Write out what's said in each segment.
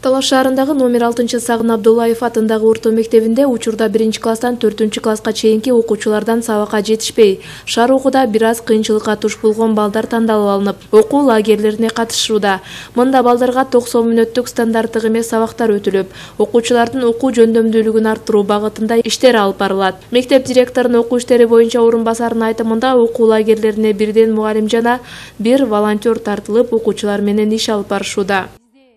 Талаш шаарындагы номер 6-Сагын Абдуллаев атындагы орто мектебинде учурда 1-класстан 4-класска чейинки окуучулардан сабакка жетишпей, шаар окууда бир аз кыйынчылыкка туш болгон балдар тандалып алынып, окуу лагерлерине катышууда. Мында балдарга 90 мүнөттүк стандарттык эмес сабактар өтүлүп, окуучулардын окуу жөндөмдүүлүгүн арттыруу багытында иштер алып барылат. Мектеп директорунун окуу иштери боюнча орун басарынын айтымында окуу лагерлерине бирден мугалим жана бир волонтер тартылып, окуучулар менен иш алып барышууда.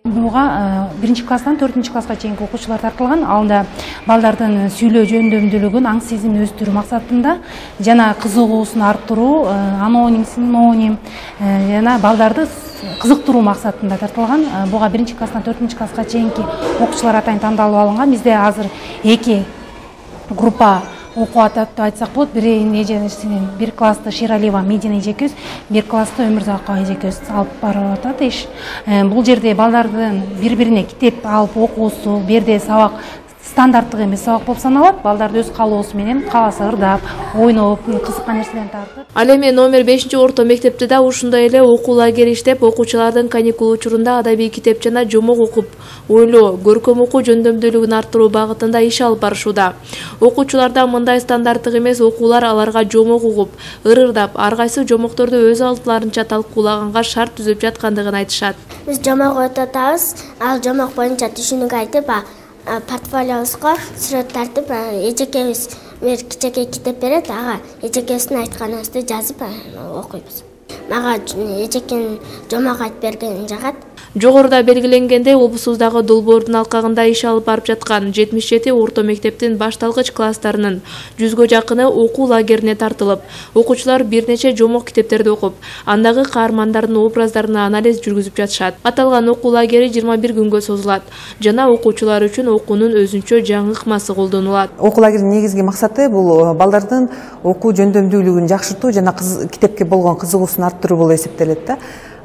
Буга 1-класстан 4-класска чейинки окуучулар тартылган. Алда балдардын сүйлөө жөндөмдүүлүгүн, аң сезимин өстүрүү максатында жана кызыгуусун арттыруу, аноним, синоним жана балдарды кызыктыруу максатында тартылган. Буга 1-класстан 4-класска чейинки окуучулар атайын тандалып алынган. Бизде азыр 2 группа окуу атап деп айтсак болот. Бир класста Ширалиева Медина эжекебиз, бир класста Өмүрзакова эжекебиз алып барып атат иш. Бул жерде балдардын бири-бирине китеп алып окуусу, бу жерде сабак стандарттык эмес сабак болуп саналат. Балдарды өз каалоосу менен кааласа ырдап, ойноп, кызыккан нерселерин тартып. Ал эми номер 5-орто мектепте да ушундай эле окуу лагери иштеп, окуучулардын каникул учурунда адабий китеп жана жомок окуп, ойлоо, көркөм окуу жөндөмдүүлүгүн арттыруу багытында иш алып барышууда. Окуучуларда мындай стандарттык эмес окуулар аларга жомок угуп, ырдап, ар кайсы жомокторду өз алдыларынча талкуулаганга шарт түзүп жаткандыгын айтышат. Биз жомок өтөтөбүз, ал жомок боюнча түшүнүк айтып, портфолиобузга сүрөт тартып, эжекебиз бир кичинекей китеп берет, ага эжекебиздин айтканыбызды жазып окуйбуз. Мага эжекем жомок айтып берген жагат. Жогоруда белгиленгендей, облусубуздагы долбоордун алкагында иш алып барып жаткан 77 орто мектептин башталгыч класстарынын 100гө жакыны окуу лагерине тартылып, окуучулар бир нече жомок китептерди окуп, андагы каармандардын образдарын анализ жүргүзүп жатышат. Аталган окуу лагери 21 күнгө созулат жана окуучулар үчүн окуунун өзүнчө жаңы ыкмасы колдонулат. Окуу лагеринин негизги максаты бул балдардын окуу жөндөмдүүлүгүн жакшыртуу жана китепке болгон кызыгуусун арттыруу болуп эсептелет да.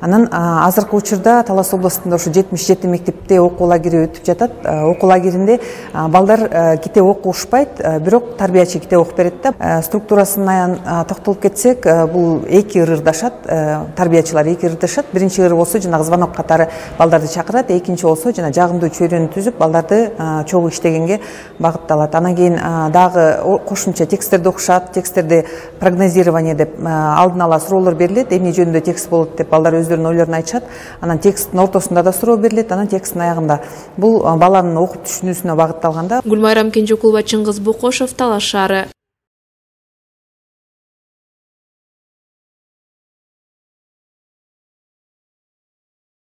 Анан азыркы учурда Талас областында ушу 77 мектепте окуу лагери өтүп жатат. Окуу лагеринде балдар китеп окушпайт, бирок тарбиячы китеп окуп берет да. Структурасына токтолуп кетсек, бул 2 ырдашат, тарбиячылар 2 ырдашат. Биринчи ыр болсо жанагы звонок катары балдарды чакырат, экинчи болсо жана жагымдуу чөйрөнү түзүп, балдарды чогуу иштегенге багытталат. Анан кийин дагы кошумча тексттерди окушат, тексттерди прогнозирование деп алдын ала суроолор берилет, эмне жөнүндө текст болот деп балдар өздөрүнүн ойлорун айтышат. Анан тексттин ортосунда да суроо берилет, анан тексттин аягында. Бул баланын окуп түшүнүүсүнө багытталган да. Гүлмайрам Кенжекулова, Чыңгыз Бокошов, Талаш шаары.